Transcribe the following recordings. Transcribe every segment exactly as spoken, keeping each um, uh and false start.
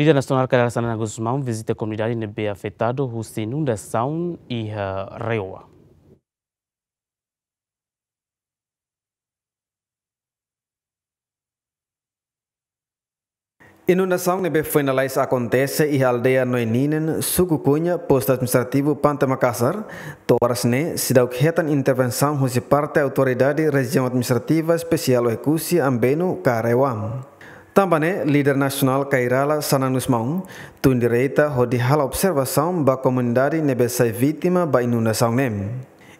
Líder nasionál Kay Rala Xanana Gusmão vizita komunidade ne'ebé afetadu husi inundasaun iha Reoa. Inundasaun ne'ebé foin lalais akontese iha aldeia Noeninen, suku Cunha, postu administrativu Pante Makassar, to'o oras ne'e seidauk hetan intervensaun husi parte Autoridade Rejiaun Administrativa Espesiál Oekusi Ambenu ka Reoa. Tanba ne'e, líder nasionál Kay Rala Xanana Gusmão tun direta hodi halo observasaun ba komunidade ne'ebé sai vítima ba inundasaun ne'e.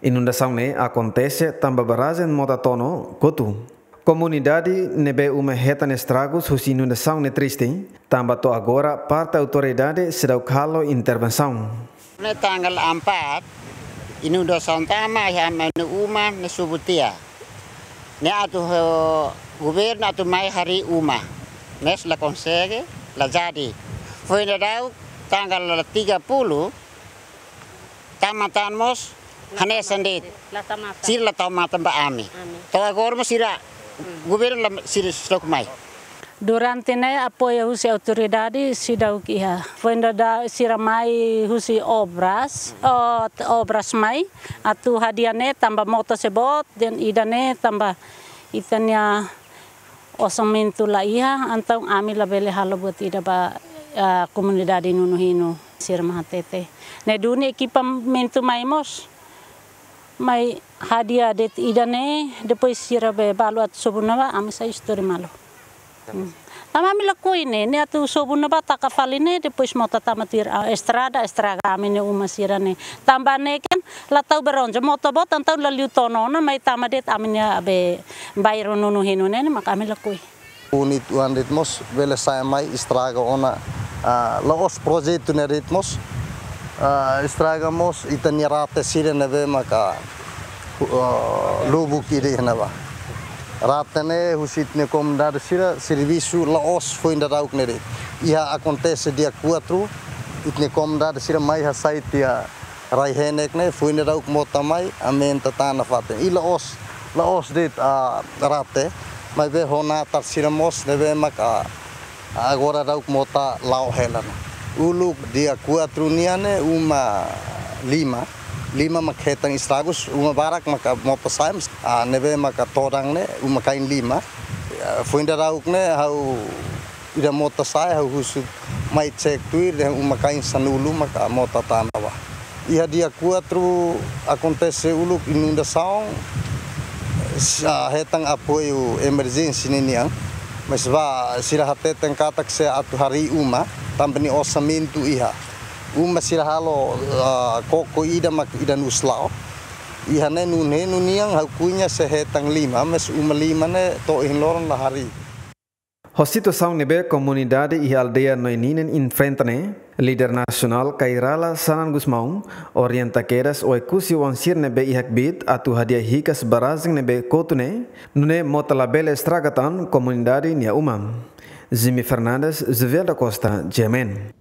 Inundasaun ne'e akontese tanba barrajen Mota Tono kotu. Komunidade ne'ebé uma hetan estragus husi inundasaun ne'e triste, tanba to'o agora parte autoridade seidauk halo intervensaun. Ne'e tanggal empat, inundasaun tama iha ami-nia uma ne'e sobu tiha. Ne'e atu, eh, governu atu mai harii uma. Maibé la konsege, la jadi. Foin daudauk tanggal tiga puluh, tama tan mós, hanesan de'it. La tau matan. Sira la tau matan ba ami. Ami. To'o agora mós sira, governu la sira seidauk mai. Durante ne'e apoiu husi autoridade seidauk iha. Foin daudauk sira mai husi obras, oh, obras mai, atu hadi'a ne'e tanba mota sei boot, dehan ida-ne'e tanba ita-nia orsamentu la iha, entaun ami labele halo buat ida ba, ah, komunidade Nunus Hinu sira mak hatete. Ne'e duni ekipamentu mai mós, mai hadi'a de'it ida-ne'e, depois sira be balu atu sobu ne'ebá, ami sai istori malu. Hmm. Tanba ami lakohi ne'e, ne'e atu sobu ne'ebá taka fali ne'e, depois mota tama tuir, ah, estrada, estraga ami-nia uma sira-ne'e. Tanba ne'e kan, la tau beronja, mota boot entaun la liu tono ona, mai tama de'it ami-nia be bairru Nunus Hinu ne'e, ne'e mak ami lakohi. Unit oan de'it mós bele sai mai estraga ona, ah, la'ós projetu ne'e de'it mós, ah, estraga mós ita-nia rate sira ne'ebé maka, ah, lubuk ida iha ne'ebá. Rate ne'e husi ita-nia komunidade sira servisu la'ós foin daudauk ne'e de'it. Iha akontese dia quatro, ita-nia komunidade sira mai hasai tiha rai-henek ne'e, foin daudauk mota mai, aumenta tan nafatin. I la'ós, la'ós de'it, ah, rate, maibé ho natar sira mós, ne'ebé maka, ah, agora daudauk mota la'o hela ne'e. Uluk dia quatro nian ne'e, uma lima, lima mak hetan estragus, uma barak maka mota sai, ah, ne'ebé maka todan ne'e, uma-kain lima. Ah, foin daudauk ne'e, ha'u ida mota sai, ha'u husu mai cek tuir, dehan uma-kain sanulu maka mota tama bá. Iha dia quatro akontese uluk inundasaun, s-, ah, hetan apoiu emerjénsia ninian. Maibé sira hateten katak sei atu harii uma, tanba nia orsamentu iha. Uma sira halo, ah, koko ida mak ida-nus la'o. Iha ne'e Nunus Hinu nian ha'u koñese hetan lima, maibé uma lima ne'e to'o ohin loron la harii. Ho situasaun ne'ebé komunidade iha aldeia Noeninen enfrenta ne'e, líder nasionál Kay Rala Xanana Gusmão orienta kedas Oekusi oan sira ne'ebé iha kbiit atu hadi'a hikas barrajen ne'ebé kotu ne'e, nune'e mota labele estraga tan komunidade nia uma. Jimmy Fernandes, Jovel da Costa, G M N.